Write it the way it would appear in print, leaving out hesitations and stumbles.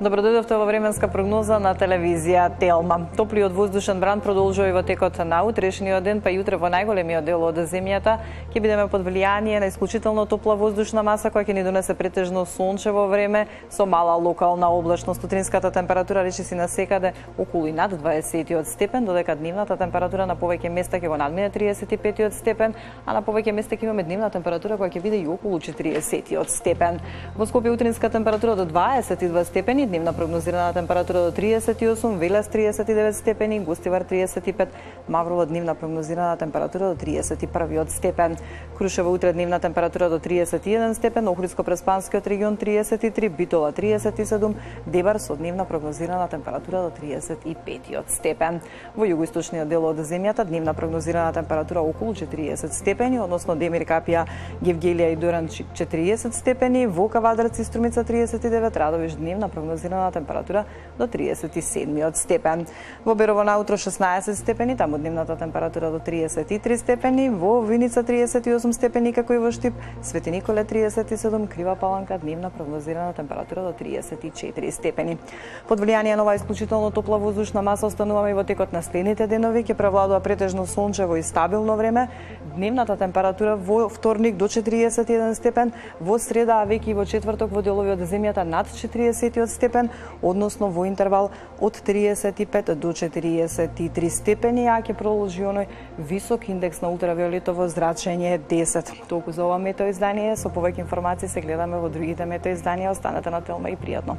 Добродојдовте во временска прогноза на телевизија Телма. Топлиот воздушен бран продолжува и во текот на утрешниот ден, па јутре во најголемиот дел од земјата ќе бидеме под влијание на исклучително топла воздушна маса која ќе ни донесе претежно сончево време со мала локална облачност. Утринската температура речиси на секаде околу и над 20 степен, додека дневната температура на повеќе места ќе го надмине 35 степен, а на повеќе места ќе имаме дневна температура која ќе биде и околу 40 степен. Во Скопје утринска температура до 22 степени, дневна прогнозирана температура до 38, Велес 39 степени, Гостивар 35, Маврово дневна прогнозирана температура до 31 степен. Крушево утре дневна температура до 31 степен, Охридско-Преспанскиот регион 33, Битола 37, Дебар со дневна прогнозирана температура до 35 степен. Во југоисточниот дел од земјата дневна прогнозирана температура околу 40 степени, односно Демир, Капија, Гевгелија и Доран 40 степени, во Кавадарци и Струмица 39, Радовиш дневна прогнозирана температура до 37 степен. Во Берово наутро 16 степени, таму дневната температура до 33 степени, во Виница 38 степени, како и во Штип, Свети Николе 37, Крива Паланка дневна прогнозирана температура до 34 степени. Под влијание на оваа исклучително топла воздушна маса остануваме и во текот на следните денови, ќе превладува претежно сончево и стабилно време. Дневната температура во вторник до 41 степен, во среда, а веќе и во четврток во делови од земјата над 40 степен, односно во интервал од 35 до 43 степени, а ќе продолжи оној висок индекс на ултравиолетово зрачење 10. Толку за ова метеоиздание, со повеќе информации се гледаме во другите метеоизданија. Останете на Телма и пријатно.